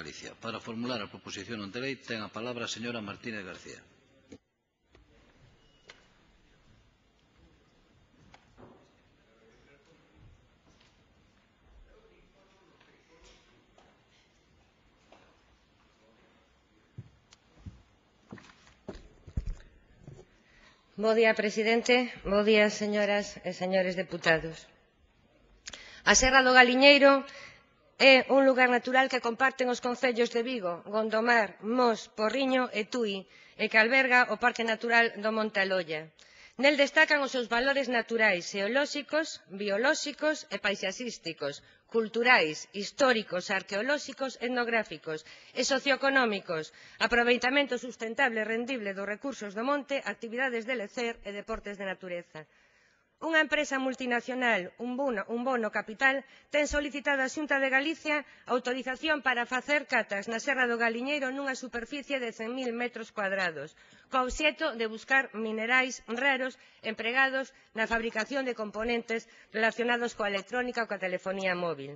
Galicia. Para formular a proposición non de lei ten a palabra a señora Martínez García. Bo día, presidente. Bo día, señoras e señores deputados. A Serra do Galiñeiro é un lugar natural que comparten os concellos de Vigo, Gondomar, Mos, Porriño e Tui, e que alberga o Parque Natural do Monte Aloia. Nel destacan os seus valores naturais, xeolóxicos, biolóxicos e paisaxísticos, culturais, históricos, arqueolóxicos, etnográficos e socioeconómicos, aproveitamento sustentable e rendible dos recursos do monte, actividades de lecer e deportes de natureza. Unha empresa multinacional, un bono capital, ten solicitado á Xunta de Galicia autorización para facer catas na Serra do Galiñeiro nunha superficie de 100.000 metros cuadrados, co obxecto de buscar minerais raros empregados na fabricación de componentes relacionados coa electrónica ou coa telefonía móvil.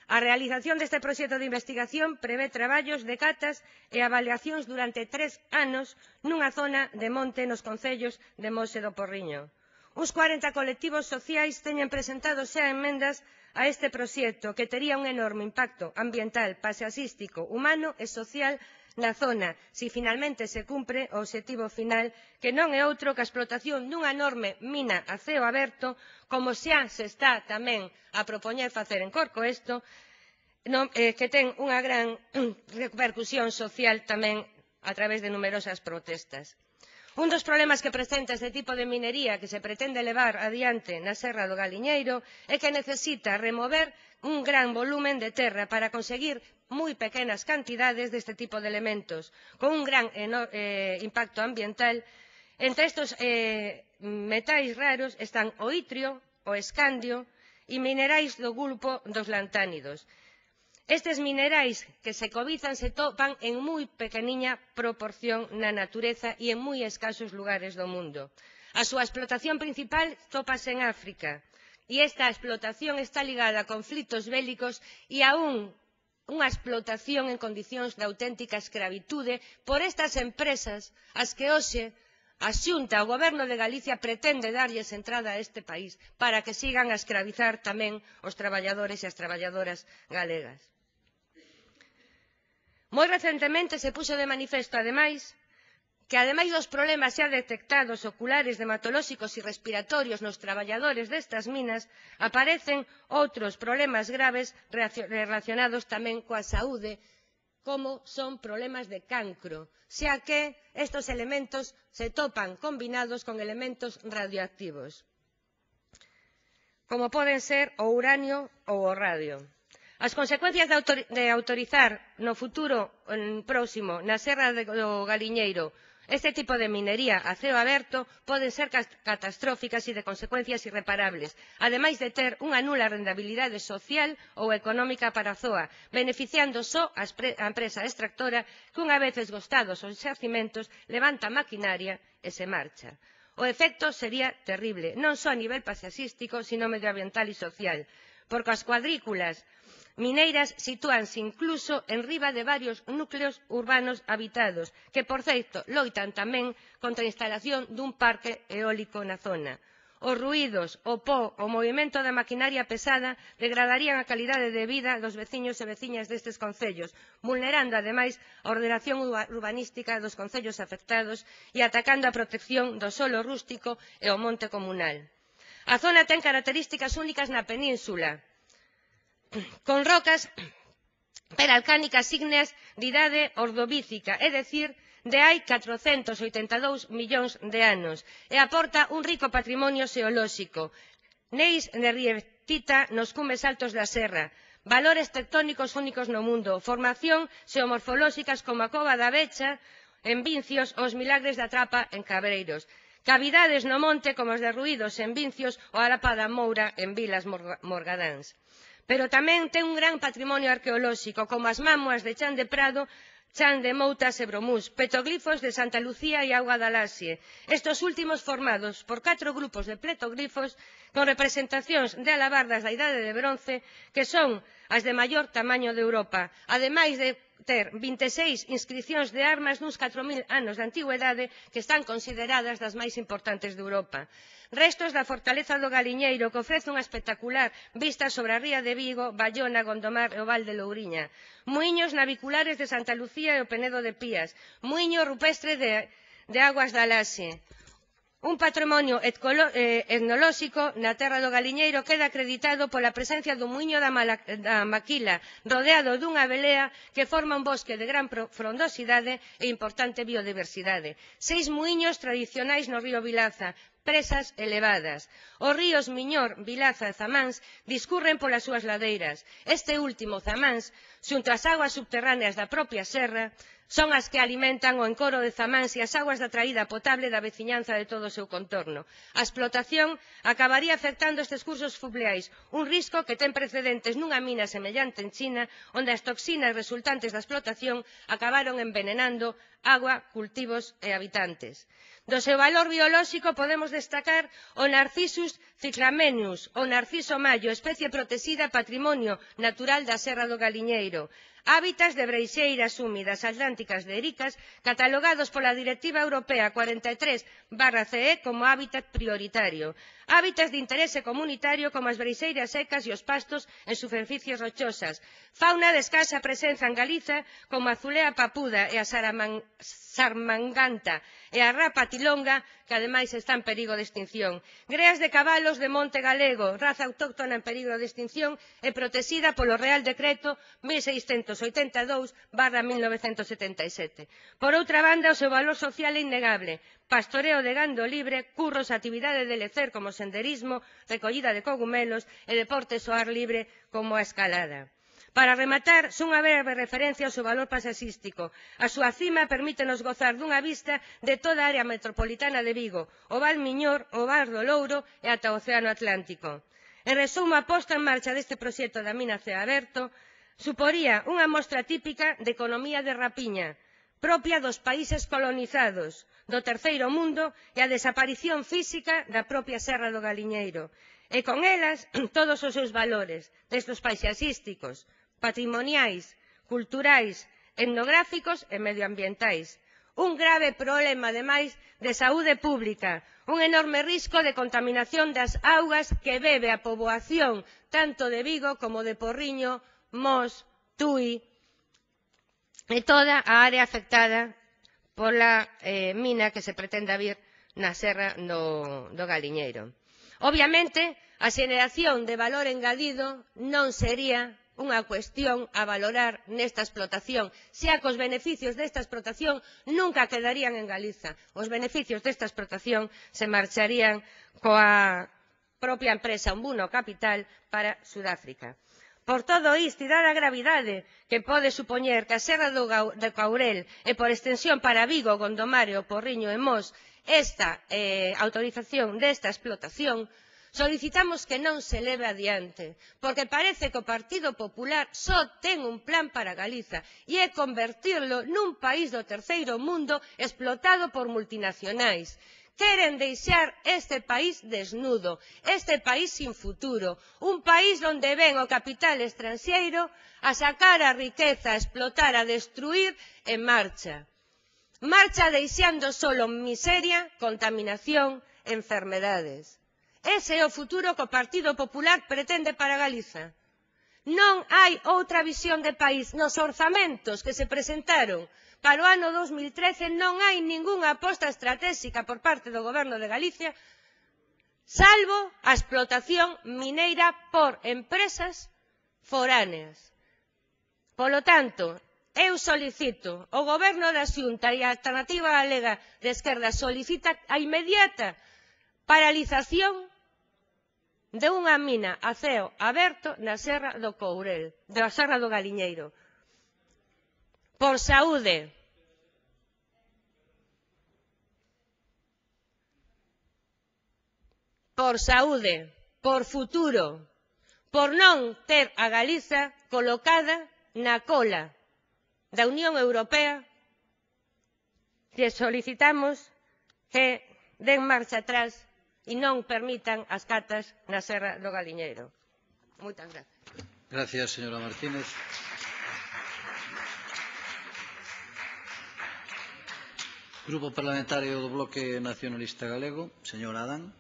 A realización deste proxecto de investigación prevé traballos de catas e avaliacións durante 3 anos nunha zona de monte nos concellos de Mos e do Porriño. Uns 40 colectivos sociais teñen presentado xa emendas a este proxecto que tería un enorme impacto ambiental, paisaxístico, humano e social na zona, se finalmente se cumpre o obxectivo final, que non é outro que a explotación dunha enorme mina a ceo aberto, como xa se está tamén a propoñer facer en Corcoesto, que ten unha gran repercusión social tamén a través de numerosas protestas. Un dos problemas que presenta este tipo de minería que se pretende levar adiante na Serra do Galiñeiro é que necesita remover un gran volumen de terra para conseguir moi pequenas cantidades deste tipo de elementos, con un gran impacto ambiental. Entre estes metais raros están o itrio, o escandio e minerais do grupo dos lantánidos. Estes minerais que se cobizan se topan en moi pequeniña proporción na natureza e en moi escasos lugares do mundo. A súa explotación principal tópase en África e esta explotación está ligada a conflitos bélicos e a unha explotación en condicións de auténtica escravitude por estas empresas ás que hoxe a Xunta, o Goberno de Galicia, pretende darlles entrada a este país para que sigan a escravizar tamén os traballadores e as traballadoras galegas. Moi recentemente se puxo de manifesto, ademais, que ademais dos problemas xa detectados oculares, dermatolóxicos e respiratorios nos traballadores destas minas, aparecen outros problemas graves relacionados tamén coa saúde, como son problemas de cancro, xa que estes elementos se topan combinados con elementos radioactivos, como poden ser o uranio ou o radio. As consecuencias de autorizar no futuro próximo na Serra do Galiñeiro este tipo de minería a ceo aberto poden ser catastróficas e de consecuencias irreparables, ademais de ter unha nula rentabilidade social ou económica para a zoa, beneficiando só a empresa extractora que, unha vez esgotados os xacimentos, levanta a maquinaria e se marcha. O efecto sería terrible, non só a nivel paisaxístico, sino medioambiental e social, porque as cuadrículas mineiras sitúanse incluso en riba de varios núcleos urbanos habitados, que, por certo, loitan tamén contra a instalación dun parque eólico na zona. Os ruídos, o po, o movimento da maquinaria pesada degradarían a calidade de vida dos veciños e veciñas destes concellos, vulnerando, ademais, a ordenación urbanística dos concellos afectados e atacando a protección do solo rústico e o monte comunal. A zona ten características únicas na península, con rocas peralcánicas ígneas de idade ordovícica, é dicir, de hai 482 millóns de anos, e aporta un rico patrimonio xeolóxico, neis de rietita nos cumes altos da serra, valores tectónicos únicos no mundo, formación xeomorfolóxicas como a Cova da Becha en Vincios ou os Milagres da Trapa en Cabreiros, cavidades no monte como os de Ruídos en Vincios ou a Lapa da Moura en Vilas Morgadáns. Pero tamén ten un gran patrimonio arqueolóxico, como as mámoas de Chan de Prado, Chan de Moutas e Bromús, petroglifos de Santa Lucía e Auga da Laxe, estos últimos formados por 4 grupos de petroglifos con representacións de alabardas da Idade de Bronce, que son as de maior tamaño de Europa, ademais de ter 26 inscricións de armas nuns 4.000 anos de antigüedade que están consideradas das máis importantes de Europa. Restos da fortaleza do Galiñeiro, que ofrece unha espectacular vista sobre a ría de Vigo, Bayona, Gondomar e o Val de Louriña. Muiños naviculares de Santa Lucía e o Penedo de Pías. Muiño rupestre de Aguas da Laxe. Un patrimonio etnolóxico na terra do Galiñeiro queda acreditado pola presencia do muiño da Maquila, rodeado dunha belea que forma un bosque de gran frondosidade e importante biodiversidade. 6 muiños tradicionais no río Vilaza, presas elevadas. Os ríos Miñor, Vilaza e Zamáns discurren polas súas ladeiras. Este último, Zamáns, xunto ás aguas subterráneas da propia serra, son as que alimentan o encoro de Zamáns e as aguas da traída potable da veciñanza de todo o seu contorno. A explotación acabaría afectando estes cursos fluviais, un risco que ten precedentes nunha mina semellante en China, onde as toxinas resultantes da explotación acabaron envenenando agua, cultivos e habitantes. Do seu valor biolóxico podemos destacar o Narcissus cyclamenus, o narciso mallo, especie protexida patrimonio natural da Serra do Galiñeiro. Hábitats de breixeiras húmidas atlánticas de ericas catalogados pola Directiva Europea 43/CE como hábitat prioritario. Hábitats de interese comunitario como as breixeiras secas e os pastos en superficies rochosas. Fauna de escasa presenza en Galiza como a azulea papuda e a sarmanganta e a rapa tilonga, que ademais está en perigo de extinción. Greas de cabalos de monte galego, raza autóctona en perigo de extinción e protexida polo Real Decreto 1682/1977. Por outra banda, o seu valor social é innegable. Pastoreo de gando libre, curros, actividade de lecer como senderismo, recollida de cogumelos e deportes ao ar libre como a escalada. Para rematar, son unha breve referencia ao seu valor paisaxístico. A súa cima permítenos gozar dunha vista de toda a área metropolitana de Vigo, o Val Miñor, o Val do Louro e ata o Océano Atlántico. En resumo, a posta en marcha deste proxecto da mina Ceo Aberto suporía unha mostra típica de economía de rapiña, propia dos países colonizados, do terceiro mundo e a desaparición física da propia Serra do Galiñeiro. E con elas todos os seus valores, desde os paisaxísticos, patrimoniais, culturais, etnográficos e medioambientais. Un grave problema, ademais, de saúde pública, un enorme risco de contaminación das augas que bebe a poboación tanto de Vigo como de Porriño, Mos, Tui e toda a área afectada pola mina que se pretende abrir na Serra do Galiñeiro. Obviamente, a xeración de valor engadido non sería unha cuestión a valorar nesta explotación, xa que os beneficios desta explotación nunca quedarían en Galiza. Os beneficios desta explotación se marcharían coa propia empresa Umbuno Capital para Sudáfrica. Por todo isto, e dada a gravidade que pode supoñer que a Serra do Courel e por extensión para Vigo, Gondomar e o Porriño e Mos esta autorización desta explotación, solicitamos que non se leve adiante, porque parece que o Partido Popular só ten un plan para Galiza e é convertirlo nun país do terceiro mundo explotado por multinacionais. Queren deixar este país desnudo, este país sin futuro, un país onde ven o capital estranxeiro a sacar a riqueza, a explotar, a destruir e marcha. Marcha deixando solo miseria, contaminación e enfermedades. Ese é o futuro que o Partido Popular pretende para Galiza. Non hai outra visión de país. Nos orzamentos que se presentaron para o ano 2013 non hai ningunha aposta estratégica por parte do Goberno de Galicia, salvo a explotación mineira por empresas foráneas. Polo tanto, eu solicito ao Goberno da Xunta e a Alternativa Galega de Esquerda solicita a inmediata paralización de unha mina a ceo aberto na Serra do Courel, da Serra do Galiñeiro. Por saúde. Por saúde, por futuro, por non ter a Galiza colocada na cola da Unión Europea, que solicitamos que den marcha atrás e non permitan as catas na Serra do Galiñeiro. Moitas gracias. Gracias, señora Martínez. Grupo Parlamentario do Bloque Nacionalista Galego, señor Adán.